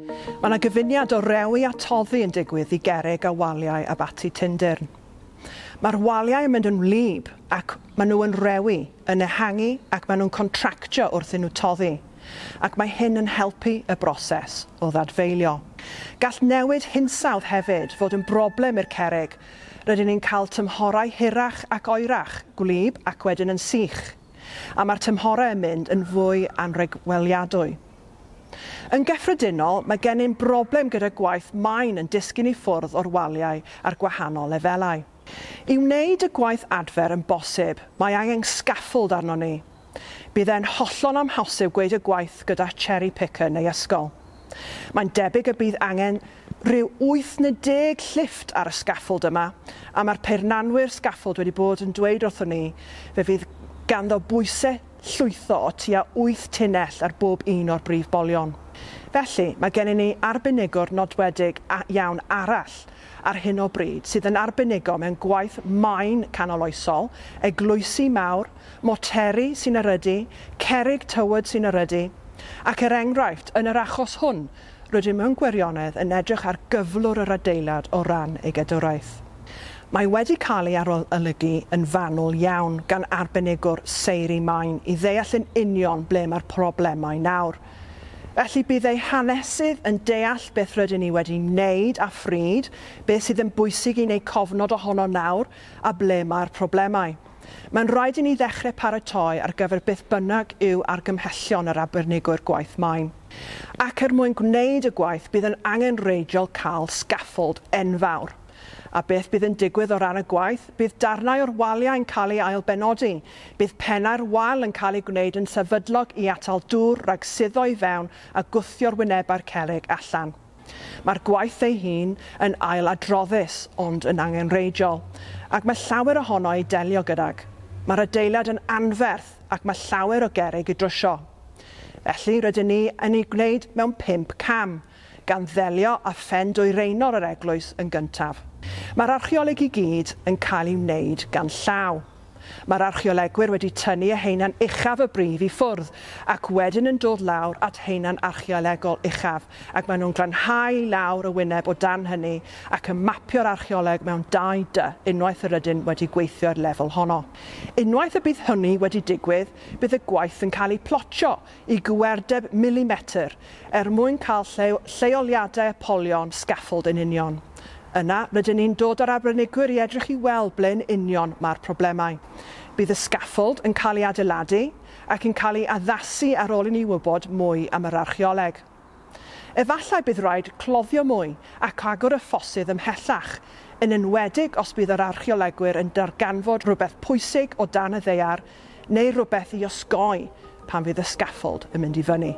Mae yna gyfuniad o rewi a toddi yn digwydd i gerrig a waliau Abaty Tyndyrn. Mae'r waliau yn mynd yn wlyb ac maen nhw yn rewi, yn ehangu ac maen nhw'n contractio wrth i nhw toddi. Ac mae hyn yn helpu y broses o ddadfeilio. Gall newid hinsawdd hefyd fod yn broblem i'r cerrig. Rydyn ni'n cael tymhorau hirach ac oerach, gwlyb ac wedyn yn sych. A mae'r tymhorau yn mynd yn fwy anrhagweliadwy. Yn gyffredinol, mae gennym broblem gyda gwaith maen yn disgyn i ffwrdd o'r waliau ar gwahanol lefelau. I wneud y gwaith adfer yn bosib, mae angen scaffold arno ni. Bydd e'n hollol amhosib gweud y gwaith gyda cherry picker neu ysgol. Mae'n debyg y bydd angen rhyw 8 neu 10 llifft ar y scaffold yma, a mae'r peirianwyr scaffold wedi bod yn dweud wrthon ni fe fydd ganddo bwysau llwytho o tua 8 tunnell ar bob un o'r brif bolion. Felly, mae gennym ni arbenigwr nodwedig iawn arall ar hyn o bryd sydd yn arbenigo mewn gwaith maen canoloesol, eglwysi mawr, moteri sy'n erydu, cerrig tywod sy'n erydu, ac er enghraifft, yn yr achos hwn, rydym mewn gwirionedd yn edrych ar gyflwr yr adeilad o ran ei gadwraeth. Mae wedi cael ei arolygu yn fanwl iawn gan arbenigwr seiri maen i ddeall yn union ble mae'r problemau nawr. Felly bydd ei hanesydd yn deall beth rydyn ni wedi wneud a phryd, beth sydd yn bwysig i wneud cofnod ohono nawr a ble mae'r problemau. Mae'n rhaid i ni ddechrau paratoi ar gyfer beth bynnag yw argymhellion yr arbenigwyr gwaith maen. Ac er mwyn gwneud y gwaith bydd yn angenrheidiol cael scaffold enfawr. A beth bydd yn digwydd o ran y gwaith? Bydd darnau o'r waliau yn cael ei ailbenodi. Bydd pennau'r wal yn cael ei gwneud yn sefydlog i atal dŵr rhag suddo i fewn a gwthio'r wynebau'r cerrig allan. Mae'r gwaith ei hun yn ailadroddus ond yn angenrheidiol, ac mae llawer ohono i delio gydag. Mae'r adeilad yn anferth ac mae llawer o gerrig i drwsio. Felly rydyn ni yn ei gwneud mewn 5 cam, gan ddelio â phen dwyreinol yr eglwys yn gyntaf. Mae'r archeoleg i gyd yn cael ei wneud gan llaw. Mae'r archeolegwyr wedi tynnu y haenau uchaf y brif i ffwrdd ac wedyn yn dod lawr at haenau archeolegol uchaf, ac maen nhw'n glanhau lawr y wyneb o dan hynny ac yn mapio'r archeoleg mewn 2 dy unwaith yr ydyn wedi gweithio ar lefel honno. Unwaith y bydd hynny wedi digwydd, bydd y gwaith yn cael ei plotio i gywerdeb milimetr er mwyn cael lleoliadau y polion scaffold yn union. Yna, rydyn ni'n dod â'r arbenigwyr i edrych i weld ble'n union mae'r problemau. Bydd y scaffold yn cael ei adeiladu ac yn cael ei addasu ar ôl i ni wybod mwy am yr archeoleg. Efallai bydd rhaid cloddio mwy ac agor y ffosydd ymhellach, yn enwedig os bydd yr archeolegwyr yn darganfod rhywbeth pwysig o dan y ddaear neu rhywbeth i osgoi pan fydd y scaffold yn mynd i fyny.